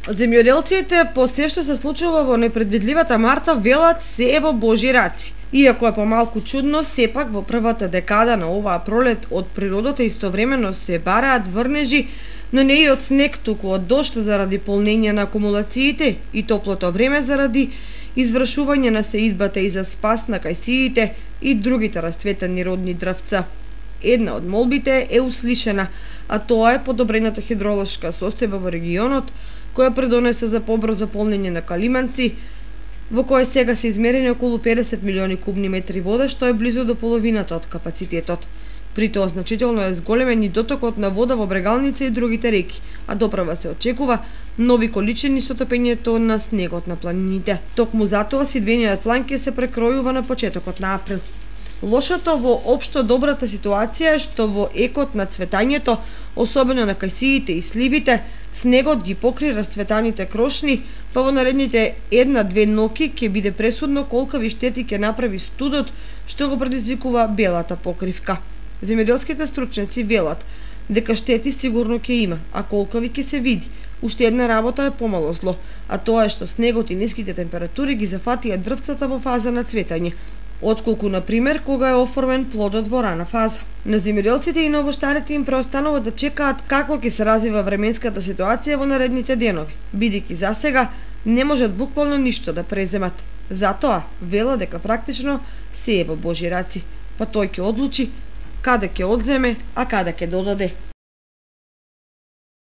Земјоделците по се што се случува во непредвидливата марта велат се е во Божји раци. Иако е помалку чудно, сепак во првата декада на оваа пролет од природата истовремено се бараат врнежи, но не и од снег, туку од дожд заради полнење на акумулациите и топлото време заради извршување на сеидбата и за спас на кајсиите и другите расцветени родни дрвца. Една од молбите е услишена, а тоа е подобрената хидролошка состојба во регионот, која предонесе за побрзо полнење на Калиманци, во кој сега се измерени околу 50 милиони кубни метри вода, што е близу до половината од капацитетот. При тоа значително е зголемен и дотокот на вода во Брегалница и другите реки, а доправа се очекува нови количини со топењето на снегот на планините. Токму затоа сидбениот план ќе се прекројува на почетокот на април. Лошото во општо добрата ситуација е што во екот на цветањето, особено на кајсиите и сливите, снегот ги покри расцветаните крошни, па во наредните 1-2 ноќи ќе биде пресудно колкави штети ќе направи студот што го предизвикува белата покривка. Земјоделските стручњаци велат дека штети сигурно ќе има, а колкави ќе се види. Уште една работа е помало зло, а тоа е што снегот и ниските температури ги зафатија дрвцата во фаза на цветање, отколку, например, кога е оформен плодот во рана фаза. На земјоделците и новоштарите им преостанува да чекаат како ќе се развива временската ситуација во наредните денови, бидејќи засега не можат буквално ништо да преземат. Затоа вела дека практично се е во Божји раци, па тој ќе одлучи каде ќе одземе, а каде ќе додаде.